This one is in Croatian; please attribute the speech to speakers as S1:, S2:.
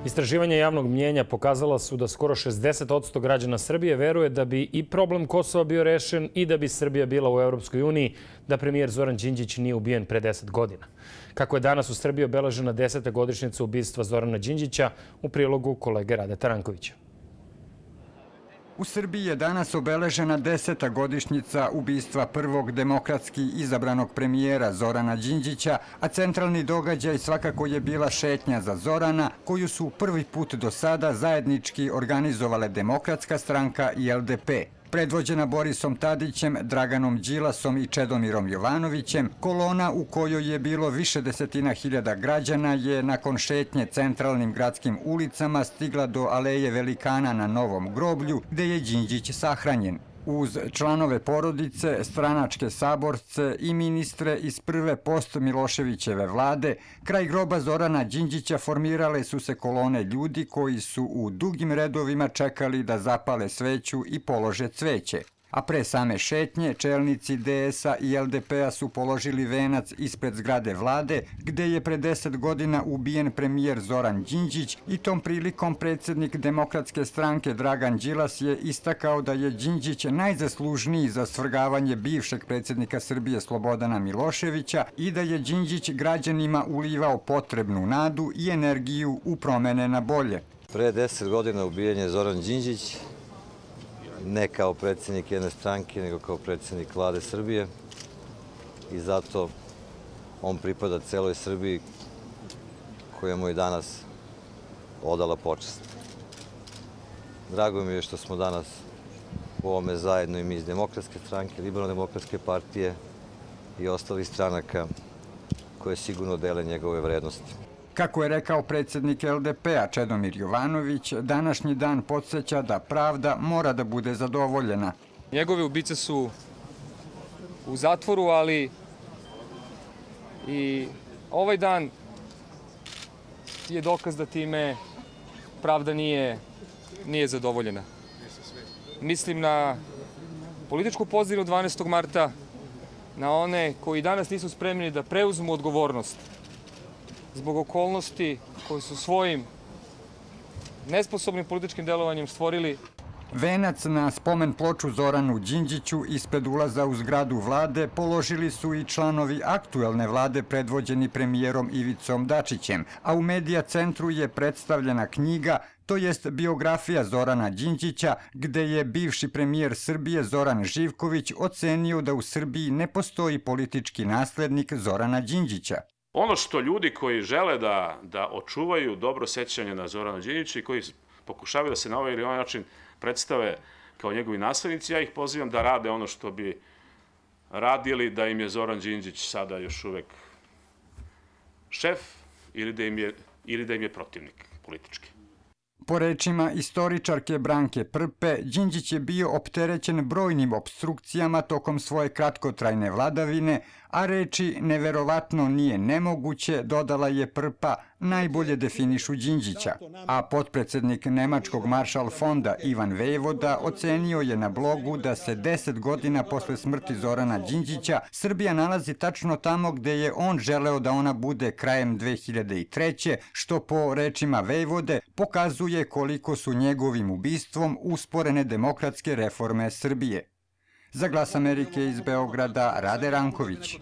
S1: Istraživanja javnog mnjenja pokazala su da skoro 60% građana Srbije veruje da bi i problem Kosova bio rešen i da bi Srbija bila u Europskoj uniji da premijer Zoran Đinđić nije ubijen pre 10 godina. Kako je danas u Srbiji obeležena 10. godišnjica ubistva Zorana Đinđića, u prilogu kolege Rade Tarankovića.
S2: U Srbiji je danas obeležena 10. godišnjica ubistva prvog demokratski izabranog premijera Zorana Đinđića, a centralni događaj svakako je bila šetnja za Zorana, koju su prvi put do sada zajednički organizovale Demokratska stranka i LDP. Predvođena Borisom Tadićem, Draganom Đilasom i Čedomirom Jovanovićem, kolona u kojoj je bilo više desetina hiljada građana je nakon šetnje centralnim gradskim ulicama stigla do Aleje Velikana na Novom groblju, gde je Đinđić sahranjen. Uz članove porodice, stranačke saborce i ministre iz prve post-Miloševićeve vlade, kraj groba Zorana Đinđića formirale su se kolone ljudi koji su u dugim redovima čekali da zapale sveću i polože cveće. A pre same šetnje, čelnici DS-a i LDP-a su položili venac ispred zgrade vlade, gde je pre 10 godina ubijen premijer Zoran Đinđić i tom prilikom predsjednik Demokratske stranke Dragan Đilas je istakao da je Đinđić najzaslužniji za svrgavanje bivšeg predsjednika Srbije Slobodana Miloševića i da je Đinđić građanima ulivao potrebnu nadu i energiju u promene na bolje.
S3: Pre 10 godina ubijen je Zoran Đinđić, ne kao predsjednik jedne stranke, nego kao predsjednik vlade Srbije i zato on pripada celoj Srbiji koja mu je danas odala počast. Drago mi je što smo danas u ovome zajedno i mi iz Demokratske stranke, Liberalno-demokratske partije i ostalih stranaka koje sigurno dele njegove vrednosti.
S2: Kako je rekao predsjednik LDP-a Čedomir Jovanović, današnji dan podsjeća da pravda mora da bude zadovoljena.
S4: Njegove ubice su u zatvoru, ali i ovaj dan je dokaz da time pravda nije zadovoljena. Mislim na političku pozadinu 12. marta, na one koji danas nisu spremni da preuzmu odgovornost zbog okolnosti koje su svojim nesposobnim političkim delovanjem stvorili.
S2: Venac na spomen ploču Zoranu Đinđiću ispred ulaza u zgradu vlade položili su i članovi aktuelne vlade predvođeni premijerom Ivicom Dačićem, a u Medija centru je predstavljena knjiga, to jest biografija Zorana Đinđića, gde je bivši premijer Srbije Zoran Živković ocenio da u Srbiji ne postoji politički naslednik Zorana Đinđića.
S5: Ono što ljudi koji žele da očuvaju dobro sećanje na Zorana Đinđića i koji pokušavaju da se na ovaj ili ovaj način predstave kao njegovi naslednici, ja ih pozivam da rade ono što bi radili da im je Zoran Đinđić sada još uvek šef ili da im je protivnik politički.
S2: Po rečima istoričarke Branke Prpe, Đinđić je bio opterećen brojnim opstrukcijama tokom svoje kratkotrajne vladavine, a reči neverovatno nije nemoguće, dodala je Prpa, najbolje definišu Đinđića. A potpredsednik Nemačkog Maršal fonda Ivan Vejvoda ocenio je na blogu da se 10 godina posle smrti Zorana Đinđića Srbija nalazi tačno tamo gde je on želeo da ona bude krajem 2003. što po rečima Vejvode pokazuje koliko su njegovim ubistvom usporene demokratske reforme Srbije. Za Glas Amerike iz Beograda, Rade Ranković.